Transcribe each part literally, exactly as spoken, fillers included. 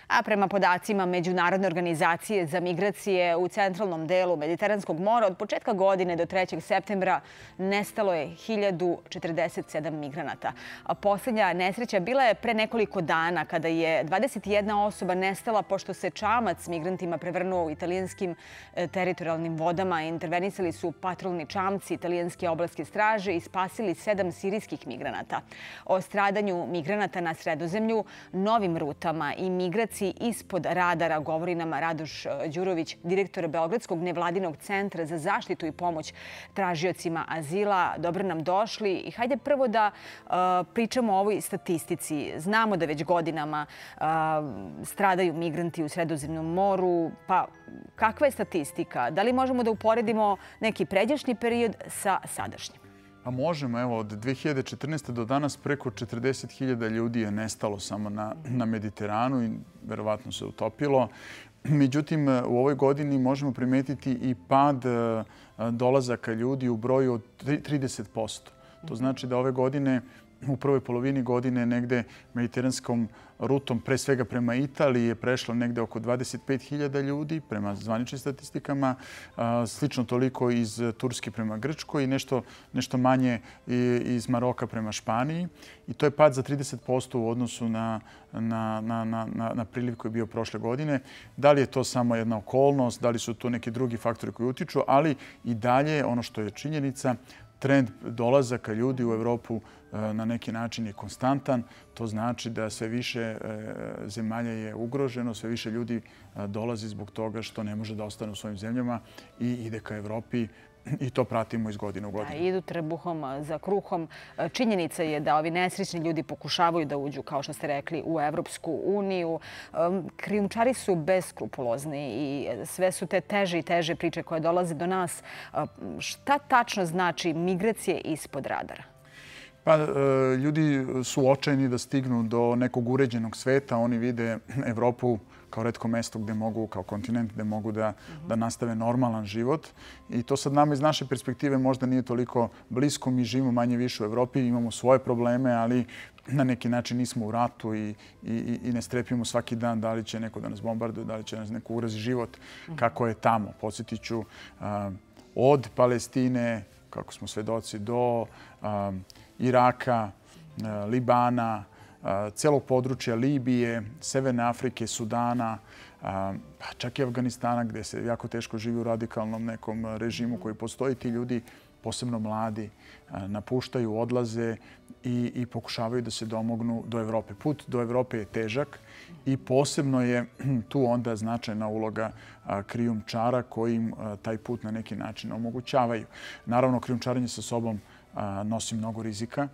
A prema podacima Međunarodne organizacije za migracije u centralnom delu Mediteranskog mora od početka godine do trećeg septembra nestalo je hiljadu četrdeset sedam migranata. A posljednja nesreća bila je pre nekoliko dana kada je dvadeset jedna osoba nestala pošto se čamac s migrantima prevrnuo u italijanskim teritorijalnim vodama. Intervenisali su patrolni čamci italijanske obalske straže i spasili sedam sirijskih migranata. O stradanju migranata na Sredozemlju, novim rutama i migraciji ispod radara govori nam Radoš Đurović, direktor Beogradskog nevladinog centra za zaštitu i pomoć tražiocima azila. Dobro nam došli i hajde prvo da uh, pričamo o ovoj statistici. Znamo da već godinama uh, stradaju migranti u Sredozemnom moru. Pa kakva je statistika? Da li možemo da uporedimo neki pređašnji period sa sadašnjim? Pa možemo. Evo, od dve hiljade četrnaeste. do danas preko četrdeset hiljada ljudi je nestalo samo na, na Mediteranu i verovatno se utopilo. Međutim, u ovoj godini možemo primetiti i pad dolazaka ljudi u broju od trideset posto. To znači da ove godine, u prvoj polovini godine, negde mediteranskom rutom, pre svega prema Italiji, je prešlo negde oko dvadeset pet hiljada ljudi prema zvaničnim statistikama, slično toliko iz Turske prema Grčkoj i nešto, nešto manje iz Maroka prema Španiji. I to je pad za trideset posto u odnosu na, na, na, na, na priliv koji je bio prošle godine. Da li je to samo jedna okolnost, da li su to neki drugi faktori koji utiču, ali i dalje ono što je činjenica, trend dolazaka ljudi u Evropu na neki način je konstantan. To znači da sve više zemalja je ugroženo, sve više ljudi dolazi zbog toga što ne može da ostane u svojim zemljama i ide ka Evropi. I to pratimo iz godine u godinu. Da, idu trbuhom za kruhom. Činjenica je da ovi nesrećni ljudi pokušavaju da uđu, kao što ste rekli, u Evropsku uniju. Krijumčari su beskrupulozni i sve su te teže i teže priče koje dolaze do nas. Šta tačno znači migracije ispod radara? Pa, ljudi su očajni da stignu do nekog uređenog sveta. Oni vide Evropu kao retko mesto gde mogu, kao kontinent, gde mogu da, da nastave normalan život. I to sad nama iz naše perspektive možda nije toliko blisko. Mi živimo manje više u Evropi, imamo svoje probleme, ali na neki način nismo u ratu i, i, i ne strepimo svaki dan da li će neko da nas bombarduje, da li će nas neko ugrozi život, kako je tamo. Podsjetit ću, od Palestine, kako smo svedoci, do Iraka, Libana, celog područja Libije, Severne Afrike, Sudana, pa čak i Afganistana gdje se jako teško živi u radikalnom nekom režimu koji postoji. Ti ljudi, posebno mladi, napuštaju, odlaze i, i pokušavaju da se domognu do Evrope. Put do Evrope je težak i posebno je tu onda značajna uloga krijumčara koji im taj put na neki način omogućavaju. Naravno, krijumčarenje sa sobom nosi mnogo rizika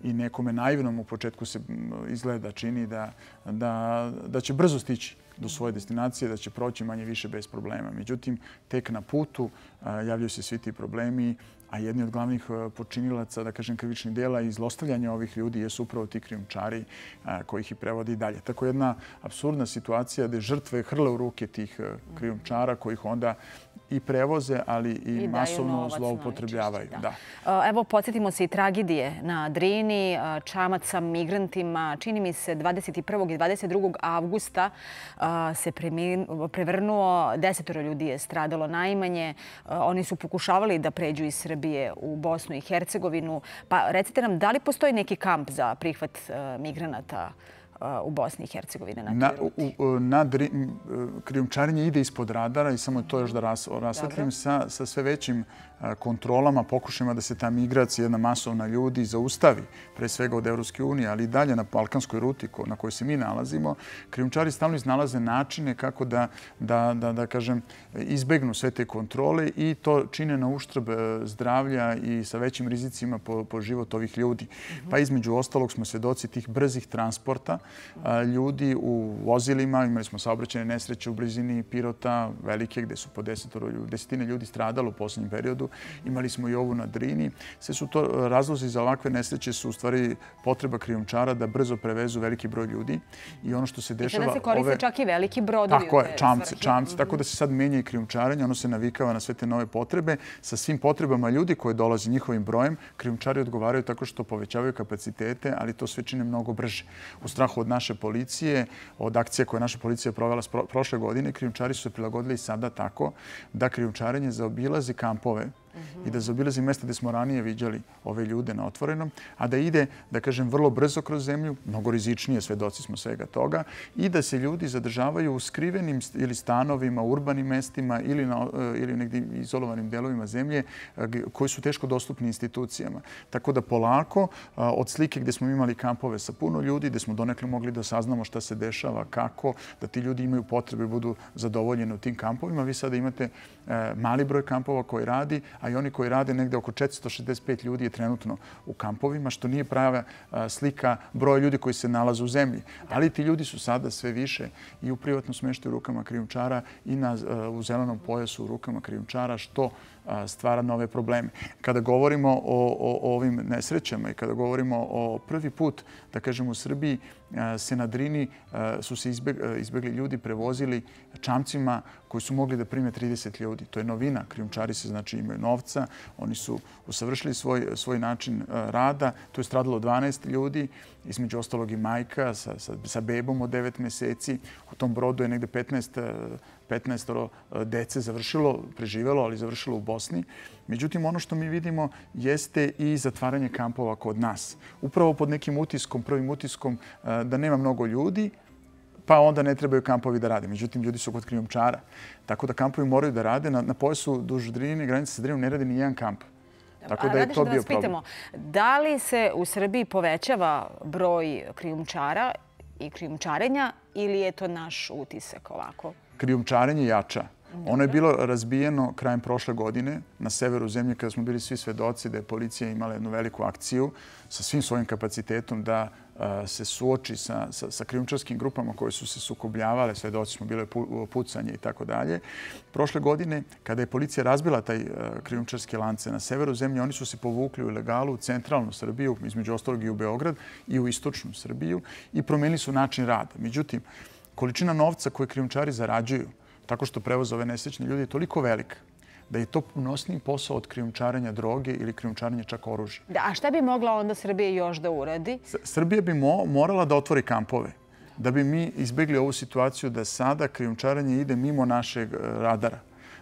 i nekome naivnom u početku se izgleda čini da, da, da će brzo stići do svoje destinacije, da će proći manje više bez problema. Međutim, tek na putu javljaju se svi ti problemi, a jedni od glavnih počinilaca, da kažem, krivičnih dela i zlostavljanja ovih ljudi jesu upravo ti krijumčari koji ih i prevode i dalje. Tako jedna apsurdna situacija gde žrtve hrle u ruke tih krijumčara koji ih onda i prevoze, ali i, I masovno zloupotrebljavaju. Da. Evo, podsjetimo se i tragedije na Drini, čamac sa migrantima. Čini mi se dvadeset prvog i dvadeset drugog avgusta se prevrnuo, desetoro ljudi je stradalo najmanje. Oni su pokušavali da pređu iz Srbije u Bosnu i Hercegovinu. Pa recite nam, da li postoji neki kamp za prihvat migranata u Bosni i Hercegovini na toj ruti? Na, na, krijumčarenje ide ispod radara i samo to još da ras, rasvetlim sa, sa sve većim kontrolama, pokušajima da se ta migracija, jedna masovna ljudi, zaustavi, pre svega od Evropske unije, ali i dalje na balkanskoj ruti na kojoj se mi nalazimo. Krijumčari stalno iznalaze načine kako da, da, da, da kažem, izbegnu sve te kontrole i to čine na uštrb zdravlja i sa većim rizicima po, po život ovih ljudi. Pa između ostalog smo svedoci tih brzih transporta ljudi u vozilima. Imali smo saobraćajne nesreće u blizini Pirota, velike, gde su po desetoro, desetine ljudi stradalo u posljednjem periodu. Imali smo i ovu na Drini. Sve su to razlozi za ovakve nesreće su u stvari potreba krijumčara da brzo prevezu veliki broj ljudi. I ono što se dešava... I sada se koriste ove... čak i veliki brodovi. Tako je, čamci, čamci. Tako da se sad menja i krijumčarenje. Ono se navikava na sve te nove potrebe. Sa svim potrebama ljudi koje dolaze njihovim brojem, krijumčari odgovaraju tako što povećavaju kapacitete, ali to sve čine mnogo brže. U strahu strahu od naše policije, od akcije koje naša policija provela prošle godine, krijumčari su se prilagodili sada tako da krijumčarenje zaobilazi kampove i da zaobilazi mjesta gdje smo ranije viđali ove ljude na otvorenom, a da ide, da kažem, vrlo brzo kroz zemlju, mnogo rizičnije, svedoci smo svega toga, i da se ljudi zadržavaju u skrivenim ili stanovima, urbanim mestima ili, na, ili negdje izolovanim delovima zemlje koji su teško dostupni institucijama. Tako da polako, od slike gdje smo imali kampove sa puno ljudi, gdje smo donekle mogli da saznamo šta se dešava, kako, da ti ljudi imaju potrebe i budu zadovoljeni u tim kampovima. Vi sada imate mali broj kampova koji radi, a i oni koji rade negde oko četiristo šezdeset pet ljudi je trenutno u kampovima, što nije prava slika broja ljudi koji se nalaze u zemlji. Ali ti ljudi su sada sve više i u privatnom smeštaju u rukama krijumčara i na, u zelenom pojasu u rukama krijumčara, što stvara nove probleme. Kada govorimo o, o, o ovim nesrećama i kada govorimo o prvi put, da kažemo, u Srbiji se na Drini su se izbegli ljudi prevozili čamcima koji su mogli da prime trideset ljudi. To je novina. Krijumčari se, znači, imaju novca. Oni su usavršili svoj, svoj način rada. Tu je stradalo dvanaest ljudi, između ostalog i majka sa, sa, sa bebom od devet meseci. U tom brodu je negde petnaest petnaest dece završilo, preživelo, ali završilo u Bosni. Međutim, ono što mi vidimo jeste i zatvaranje kampova kod nas. Upravo pod nekim utiskom, prvim utiskom da nema mnogo ljudi, pa onda ne trebaju kampovi da rade. Međutim, ljudi su kod krijumčara. Tako da kampovi moraju da rade. Na, na pojasu duž Drine, granice sa Drinom, ne radi ni jedan kamp. Tako da je to bio problem. Pitamo, da li se u Srbiji povećava broj krijumčara i krijumčarenja ili je to naš utisak ovako? Krijumčarenje jača. Ono je bilo razbijeno krajem prošle godine na severu zemlje kada smo bili svi svedoci da je policija imala jednu veliku akciju sa svim svojim kapacitetom da se suoči sa, sa, sa krijumčarskim grupama koje su se sukobljavale, svedoci smo, bile pucanje i tako dalje. Prošle godine, kada je policija razbila taj krijumčarske lance na severu zemlje, oni su se povukli u ilegalu u centralnu Srbiju, između ostalog i u Beograd, i u istočnu Srbiju i promenili su način rada. Međutim, količina novca koje krijumčari zarađuju tako što prevoze ove nesrećne ljudi je toliko velika da je to punosniji posao od krijumčarenja droge ili krijumčarenja čak oružja. Da, a šta bi mogla onda Srbija još da uradi? Srbija bi mo, morala da otvori kampove da bi mi izbjegli ovu situaciju da sada krijumčarenje ide mimo našeg radara.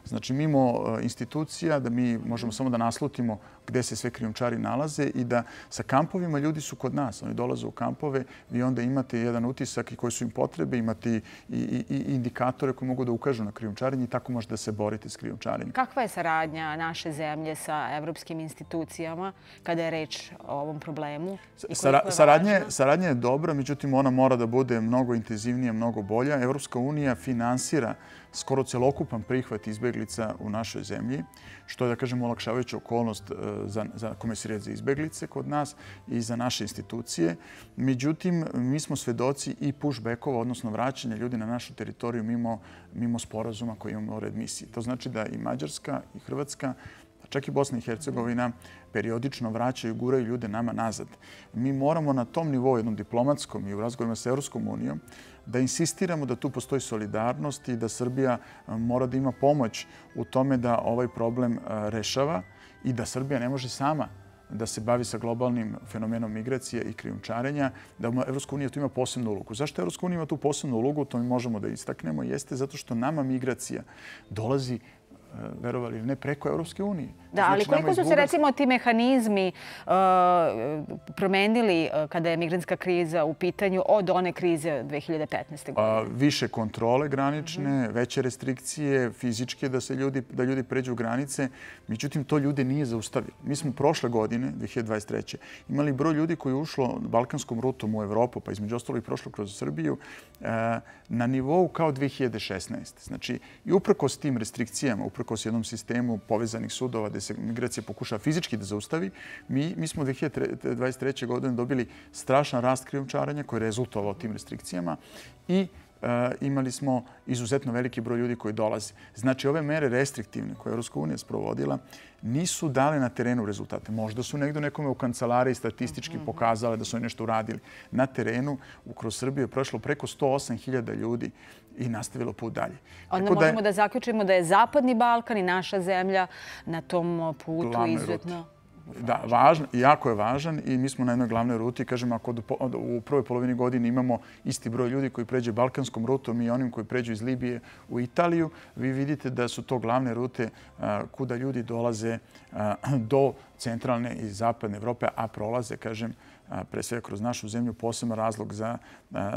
Znači, mimo institucija, da mi možemo samo da naslutimo gde se sve krijumčari nalaze i da sa kampovima ljudi su kod nas. Oni dolaze u kampove, vi onda imate jedan utisak i koji su im potrebe, imate i, i, i indikatore koji mogu da ukažu na krijumčarenje i tako možete da se borite s krijumčarenjem. Kakva je saradnja naše zemlje sa evropskim institucijama kada je reč o ovom problemu? Sara, saradnje, saradnja je dobra, međutim ona mora da bude mnogo intenzivnija, mnogo bolja. Evropska unija finansira skoro celokupan prihvat izbeglica u našoj zemlji, što je, da kažemo, olakšavajuća okolnost za, za Komesarijat za izbeglice kod nas i za naše institucije. Međutim, mi smo svedoci i pushbackova, odnosno vraćanja ljudi na našu teritoriju mimo, mimo sporazuma koji imamo o readmisiji. To znači da i Mađarska i Hrvatska, čak i Bosna i Hercegovina, periodično vraćaju, guraju ljude nama nazad. Mi moramo na tom nivou, jednom diplomatskom i u razgovorima sa Evropskom unijom, da insistiramo da tu postoji solidarnost i da Srbija mora da ima pomoć u tome da ovaj problem rešava i da Srbija ne može sama da se bavi sa globalnim fenomenom migracije i krijumčarenja, da Evropska unija tu ima posebnu ulogu. Zašto Evropska unija ima tu posebnu ulogu, to mi možemo da istaknemo, jeste zato što nama migracija dolazi, verovali ili ne, preko Evropske unije. Da, ali koliko su se, recimo, ti mehanizmi uh, promenili uh, kada je migrantska kriza u pitanju od one krize dve hiljade petnaeste. godine? Uh, više kontrole granične, mm-hmm. veće restrikcije, fizičke da se ljudi, da ljudi pređu granice. Međutim, to ljude nije zaustavilo. Mi smo prošle godine, dve hiljade dvadeset treće imali broj ljudi koji je ušlo balkanskom rutom u Evropu, pa između ostalog i prošlo kroz Srbiju, uh, na nivou kao dve hiljade šesnaeste. Znači, i uprkos tim restrikcijama, uprkos jednom sistemu povezanih sudova gde se migracija pokušava fizički da zaustavi, mi, mi smo dve hiljade dvadeset treće. godine dobili strašan rast krijumčarenja koji je rezultovao tim restrikcijama i uh, imali smo izuzetno veliki broj ljudi koji dolaze. Znači, ove mere restriktivne koje je Evropska unija sprovodila nisu dale na terenu rezultate. Možda su negdje nekome u kancelariji statistički pokazale da su oni nešto uradili. Na terenu kroz Srbiju je prošlo preko sto osam hiljada ljudi i nastavilo put dalje. Onda Tako možemo da, je, da zaključimo da je Zapadni Balkan i naša zemlja na tom putu izuzetno... Da, važan, jako je važan i mi smo na jednoj glavnoj ruti. Kažem, ako u prvoj polovini godine imamo isti broj ljudi koji pređe balkanskom rutom i onim koji pređu iz Libije u Italiju, vi vidite da su to glavne rute kuda ljudi dolaze do centralne i zapadne Evrope, a prolaze, kažem, pre svega kroz našu zemlju, poseban razlog za,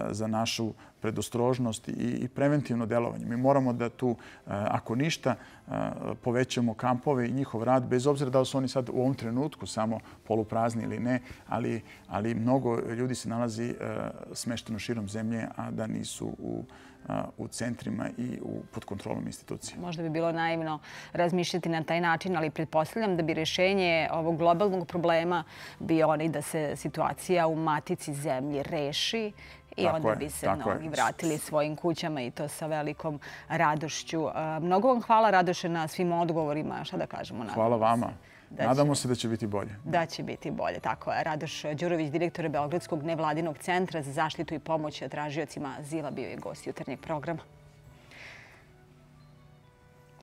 za našu predostrožnost i preventivno delovanje. Mi moramo da tu, ako ništa, povećamo kampove i njihov rad, bez obzira da li su oni sad u ovom trenutku samo poluprazni ili ne, ali, ali mnogo ljudi se nalazi smešteno širom zemlje, a da nisu u u centrima i pod kontrolom institucija. Možda bi bilo naivno razmišljati na taj način, ali pretpostavljam da bi rješenje ovog globalnog problema bio onaj da se situacija u matici zemlji reši i onda bi se mnogi vratili svojim kućama i to sa velikom radošću. Mnogo vam hvala, Radoše, na svim odgovorima. Šta da kažemo? Hvala vama. Nadamo se da će biti bolje. Da će biti bolje, tako je. Radoš Đurović, direktor Beogradskog nevladinog centra za zaštitu i pomoć tražiocima azila, bio je gost jutarnjeg programa.